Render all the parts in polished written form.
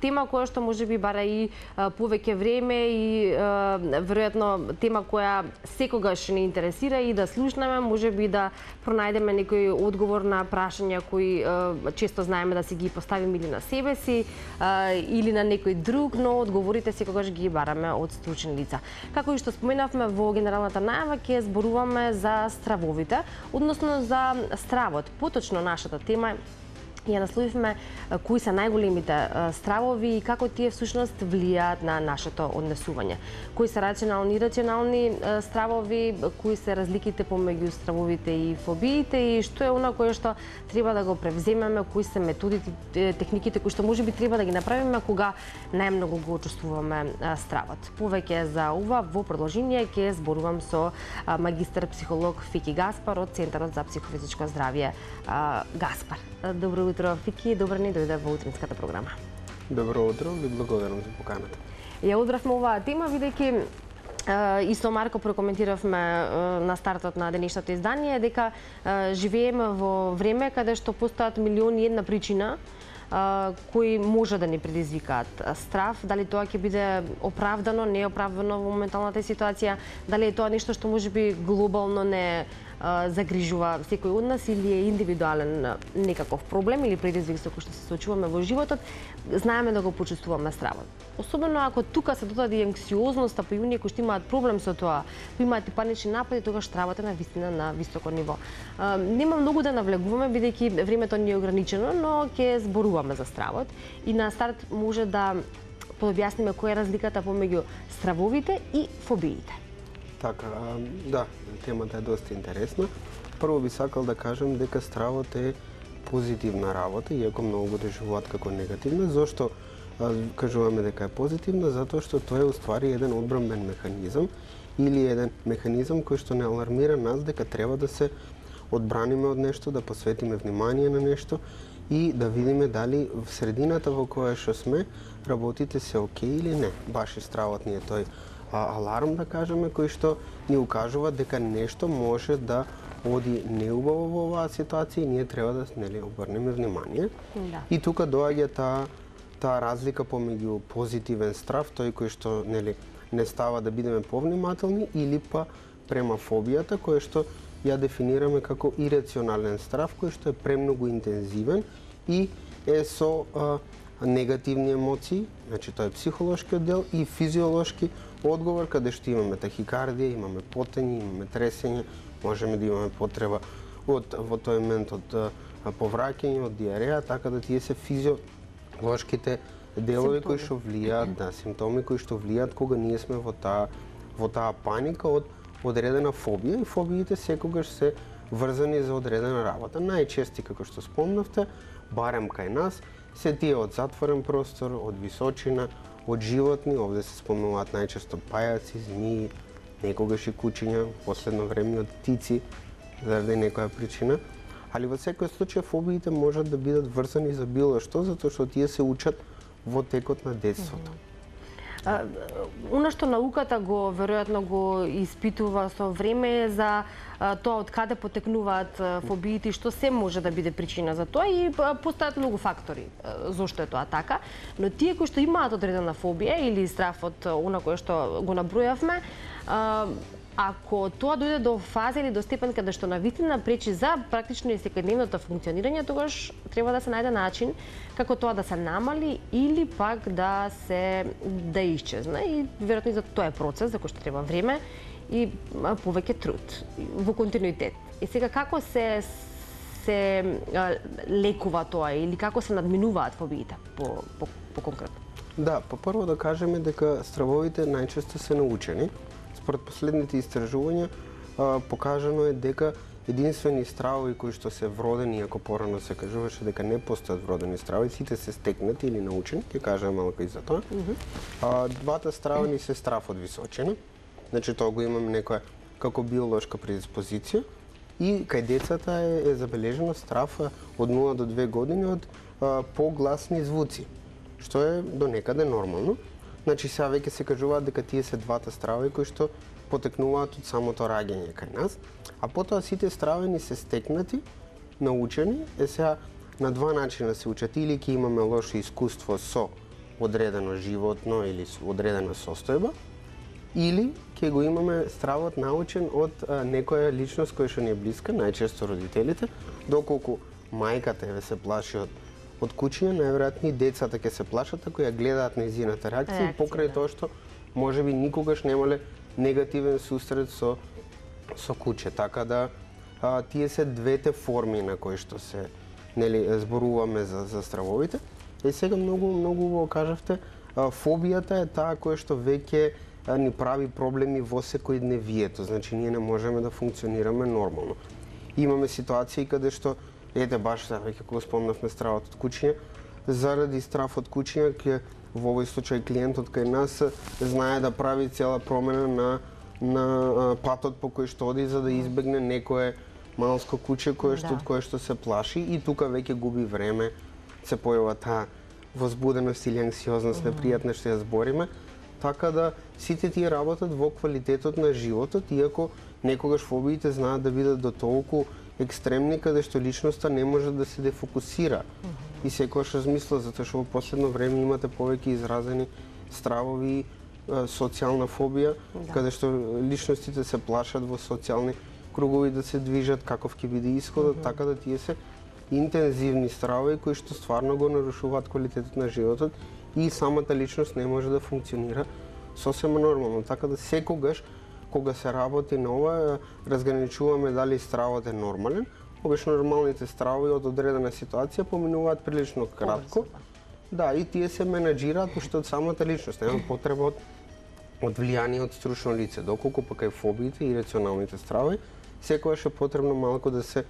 тема која што можеби бара и повеќе време и веројатно тема која секогаш не интересира и да слушнеме, можеби да пронајдеме некој одговор на прашања кои често знаеме да си ги поставиме или на себе си или на некој друг, но одговорите секогаш ги бараме од стручни лица. Како и што споменавме во генералната најава, ќе зборуваме за стравовите, односно за стравот. Поточно нашата тема ја насловивме кои се најголемите стравови и како тие всушност влијаат на нашето однесување. Кои се рационални и ирационални стравови, кои се разликите помеѓу стравовите и фобиите и што е она кое што треба да го превземеме, кои се методите, техниките кои што можеби треба да ги направиме кога најмногу го чувствуваме стравот. Повеќе за ова во продолжение ќе зборувам со магистар психолог Фики Гаспар од Центарот за психофизичко здравје Гаспар. Добро утро, Фики, добро ни дојде во утринската програма. Добро утро, ви благодарам за поканата. Ја одбравме оваа тема, бидејќи и со Марко прокоментиравме на стартот на денешното издание дека живееме во време каде што постојат милиони и една причина кои може да ни предизвикаат страв, дали тоа ќе биде оправдано, неоправдано во моменталната ситуација, дали е тоа нешто што можеби глобално не загрижува секој од нас или е индивидуален некаков проблем или предизвик со кој што се соочуваме во животот, знаеме да го почувствуваме стравот. Особено ако тука се додаде анксиозноста, па и оние кои што имаат проблем со тоа, имаат и панични напади, тогаш стравот е на вистина на високо ниво. Нема многу да навлегуваме бидејќи времето ни е ограничено, но ќе зборуваме за стравот и на старт може да пообјасниме која е разликата помеѓу стравовите и фобиите. Така, да, темата е доста интересна. Прво би сакал да кажам дека стравот е позитивна работа, иако многу го доживуваат како негативна. Зошто кажуваме дека е позитивна? Затоа што тоа е уствари еден одбранбен механизам или еден механизам кој што не алармира нас дека треба да се одбраниме од нешто, да посветиме внимание на нешто и да видиме дали в средината во која што сме работите се окей или не. Баш и стравот ни е тој аларм, да кажеме, кој што ни укажува дека нешто може да оди неубаво во оваа ситуација и ние треба да обрнеме внимание. Да. И тука доаѓа таа разлика помеѓу позитивен страв, тој кој што не става да бидеме повнимателни, или па према фобијата, кој што ја дефинираме како ирационален страв, кој што е премногу интензивен и е со негативни емоции, значи тоа е психолошкиот дел и физиолошки одговор, каде што имаме тахикардија, имаме потење, имаме тресење, можеме да имаме потреба во тој момент од повраќање, од диареја, така да тие се физиолошките делови кои што влијаат, да, симптоми кои што влијаат кога ние сме во таа паника од одредена фобија, и фобиите секогаш се врзани за одредена работа. Најчести, како што спомнавте, барем кај нас, се тие од затворен простор, од височина, од животни, овде се спомнуваат најчесто пајаци, змии, некогаш и кучиња, последно време од птици, заради некоја причина. Али во секој случај фобиите можат да бидат врзани за било што, затоа што тие се учат во текот на детството. Она што науката веројатно го испитува со време е за тоа од каде потекнуваат фобиите и што се може да биде причина за тоа, и постојат многу фактори зошто е тоа така, но тие кои што имаат одредена фобија или страв од она кое што го набројавме, ако тоа дојде до фаза или до степен каде што навистина пречи за практично и секојдневното функционирање, тогаш треба да се најде начин како тоа да се намали или пак да исчезне, и веројатно и за тоа е процес за кој што треба време и повеќе труд во континуитет. И сега како се лекува тоа или како се надминуваат фобиите по конкретно? Да, прво да кажеме дека стравовите најчесто се научени. Според последните истражувања покажано е дека единствени стравови кои што се вродени, ако порано се кажуваше дека не постојат вродени стравови, сите се стекнати или научени, ќе кажам малку и за тоа. Двата стравови се страв од височина, значи тоа го имаме некоја како биолошка предиспозиција, и кај децата е забележено страв од 0 до 2 години од погласни звуци, што е до некаде нормално. Значи сега веќе се кажуваат дека тие се двата стравови кои што потекнуваат од самото раѓање кај нас, а потоа сите стравови се стекнати, научени. Сега на два начина се учат, или ќе имаме лошо искуство со одредено животно или одредена состојба, или ќе го имаме стравот научен од некоја личност која што ни е блиска, најчесто родителите, доколку мајката се плаши од кучиња, најверојатно и децата ќе се плашат ако ја гледаат нејзината реакција, покрај тоа што можеби никогаш немале негативен сусрет со куче. Така да тие се двете форми на кои што се зборуваме за стравовите. И сега многу убаво кажавте, фобијата е таа која што веќе ни прави проблеми во секојдневието, значи ние не можеме да функционираме нормално. Имаме ситуации каде што баш веќе кога спомнавме стравот од кучиња, заради страв од кучиња во овој случај клиентот кај нас знае да прави цела промена на патот по кој што оди за да избегне некое малско куче од кое што се плаши и тука веќе губи време, се појава таа возбуденост или анксиозност, непријатна што ја збориме, така да сите тие работат во квалитетот на животот, иако некогаш фобиите знаат да бидат до толку екстремни каде што личноста не може да се дефокусира. И секогаш размисла, затоа што во последно време имате повеќе изразени стравови, социјална фобија, каде што личностите се плашат во социјални кругови да се движат, каков ќе биде исходот, така да тие се интензивни стравови кои што стварно го нарушуваат квалитетот на животот и самата личност не може да функционира сосема нормално. Така да секогаш кога се работи на ова, разграничуваме дали стравот е нормален. Обично нормалните стравови од одредена ситуација поминуваат прилично кратко. Да, и тие се менаџираат уште од самата личност. Нема потреба од влијание од стручно лице. Доколку пак и фобиите и рационалните стравови, секогаш е потребно малку да се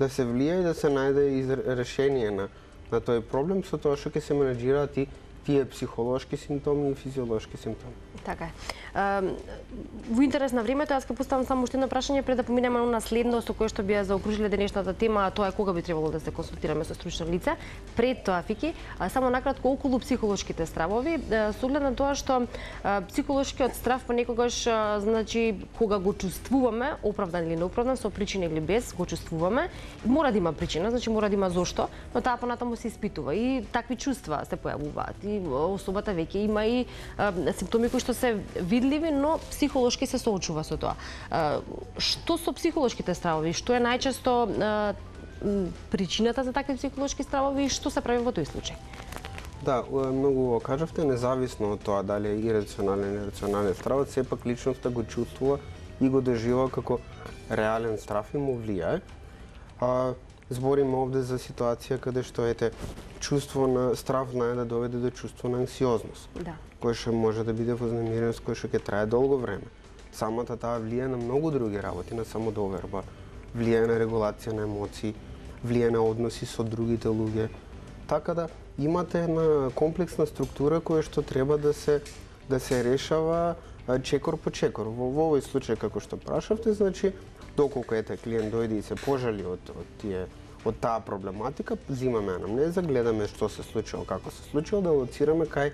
влија и да се најде решение на тој проблем, со тоа што ќе се менаџираат и тие психолошки симптоми и физиолошки симптоми. Така е. Во интерес на времето, јас ќе поставам само уште едно прашање пред да поминеме на следно со кое што би ја заокружиле денешната тема, а тоа е кога би требало да се консултираме со стручно лице. Пред тоа, Фики, само накратко околу психолошките стравови, со оглед на тоа што психолошкиот страв понекогаш, значи, кога го чувствуваме, оправдан или неоправдан, со причина или без, го чувствуваме, мора да има причина, значи мора да има зошто, но таа понатаму се испитува и такви чувства се појавуваат. И особата веќе има и симптоми кои што се видливи, но психолошки се соочува со тоа. Што со психолошките стравови? Што е најчесто причината за такви психолошки стравови и што се прави во тој случај? Да, многу кажавте, независно од тоа дали е ирационален или рационален стравот, сепак личноста го чувствува и го доживува како реален страв и му влијае. Збориме овде за ситуација каде што чувство на страв знае да доведе до чувство на анксиозност. Да. Кој што може да биде вознемиреност, кој што ќе трае долго време. Самата таа влијае на многу други работи, на самодоверба, влијае на регулација на емоции, влијае на односи со другите луѓе. Така да имате една комплексна структура која што треба да се решава чекор по чекор. Во овој случај како што прашавте, значи доколку клиент дојде и се пожали од таа проблематика, земаме анамнеза, гледаме што се случило, како се случило, да лоцираме кај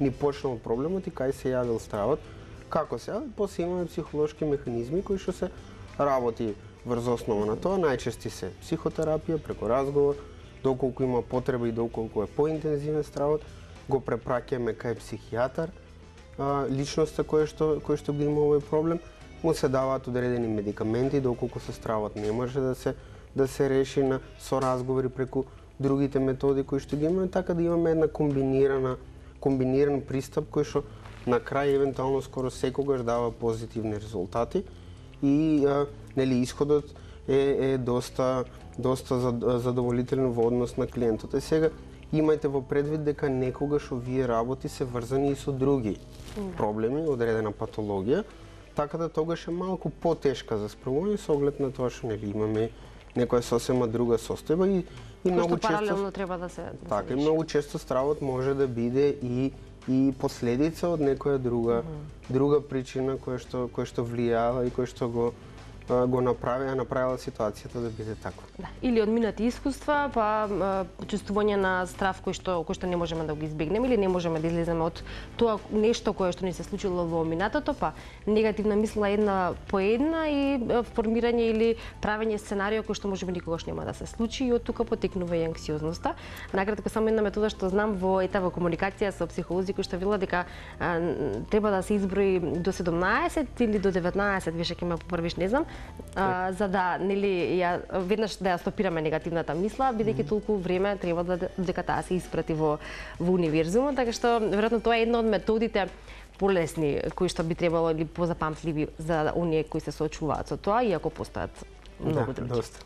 ни почнал проблемот и кај се јавил стравот, како се јавил, после имаме психолошки механизми кои што се работи врз основа на тоа, најчести се психотерапија преку разговор, доколку има потреба и доколку е поинтензивен стравот, го препраќаме кај психијатар, личноста која што ги има овој проблем, му се даваат одредени медикаменти, доколку со стравот не може да се реши со разговори преку другите методи кои што ги имаме, така да имаме една комбиниран пристап кој што на крај евентуално скоро секогаш дава позитивни резултати и исходот е доста задоволителен во однос на клиентот. И сега имајте во предвид дека некогаш овие работи се врзани и со други проблеми, одредена патологија, така да тогаш е малку потешка за справување со оглед на тоа што имаме некоја сосема друга состојба и многу често паралелно треба да се така и многу често стравот може да биде и последица од некоја друга причина која што влијава и која што го го направила ситуацијата да биде таква. Да. Или од минати искуства, па чувствување на страв кој што не можеме да го избегнеме или не можеме да излеземе од тоа нешто кое што ни се случило во минатото, па негативна мисла една по една и формирање или правење сценарио кој што можеби никогаш нема да се случи и од тука потекнува и анксиозноста. Накратко само една метода што знам во етава комуникација со психолози кој што вела дека треба да се изброи до 17 или до 19, више ќе ме поправиш, не знам, за да нели веднаш да ја стопираме негативната мисла, бидејќи толку време треба дека таа се испрати во универзумот, така што веројатно тоа е една од методите полесни кои што би требало или позапамтливи за оние кои се соочуваат со тоа, иако постојат многу други. Доста.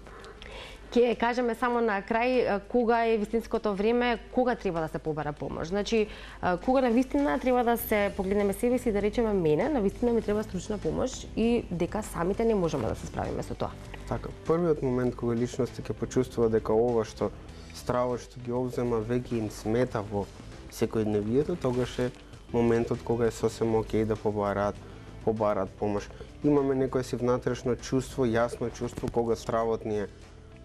Ќе кажеме само на крај кога е вистинското време, кога треба да се побара помош. Значи, кога на вистина треба да се погледнеме себе си и да речеме мене, на вистина ми треба стручна помош и дека самите не можеме да се справиме со тоа. Така, првиот момент кога личноста ќе почувствува дека ова што стравот што ги обзема веќе им смета во секојдневието, тогаш е моментот кога е сосем окей да побараат помош. Имаме некој си внатрешно чувство, јасно чувство кога стравот ни е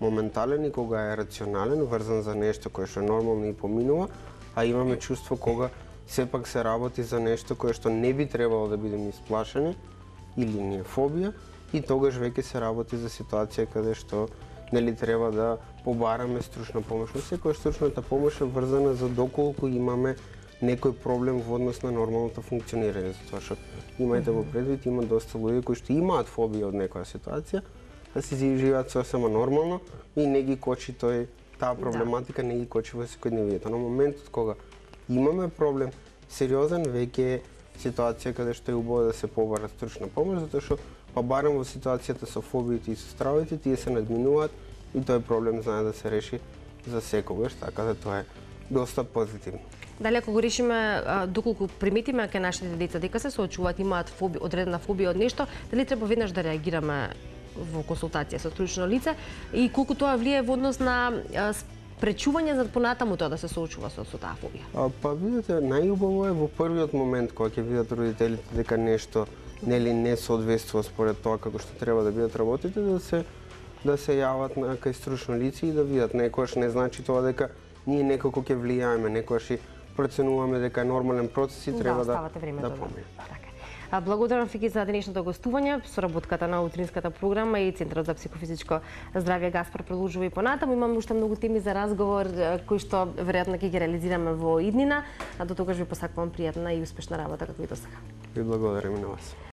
моментален и кога е рационален, врзан за нешто кое што нормално и поминува, а имаме чувство кога сепак се работи за нешто кое што не би требало да бидеме исплашени или ни е фобија и тогаш веќе се работи за ситуација каде што нели треба да побараме стручна помош. Но секоја стручната помош е врзана за доколку имаме некој проблем во однос на нормалното функционирање, затоа што имајте во предвид има доста луѓе кои што имаат фобија од некоја ситуација, да си живеат сосема нормално и не ги кочи таа проблематика не ги кочи во секојдневието. На моментот кога имаме проблем сериозен, веќе е ситуација каде што е убаво да се побара стручна помош, затоа што па барем во ситуацијата со фобиите и со стравите, тие се надминуваат и тој проблем знае да се реши за секогаш, така да тоа е доста позитивно. Дали ако го решиме, доколку приметиме кај нашите деца дека се соочуваат, имаат одредена фобија од нешто, дали треба веднаш да реагираме во консултација со стручно лице и колку тоа влие во однос на спречување за понатаму тоа да се соочува со таа фобија? Па видите, најубаво е во првиот момент кога ќе видат родителите дека нешто нели не соодветствува според тоа како што треба да бидат работите, да се јават кај стручно лице и да видат. Некогаш не значи тоа дека ние некако ќе влијаеме, некогаш и проценуваме дека е нормален процес и треба да помине. Благодарам Фики за денешното гостување, соработката на утринската програма и Центарот за психофизичко здравје Гаспар продолжува и понатаму. Имаме уште многу теми за разговор кои што веројатно ќе ги реализираме во иднина, а до тогаш ви посакувам пријатна и успешна работа како и досега. Ви благодарам и на вас.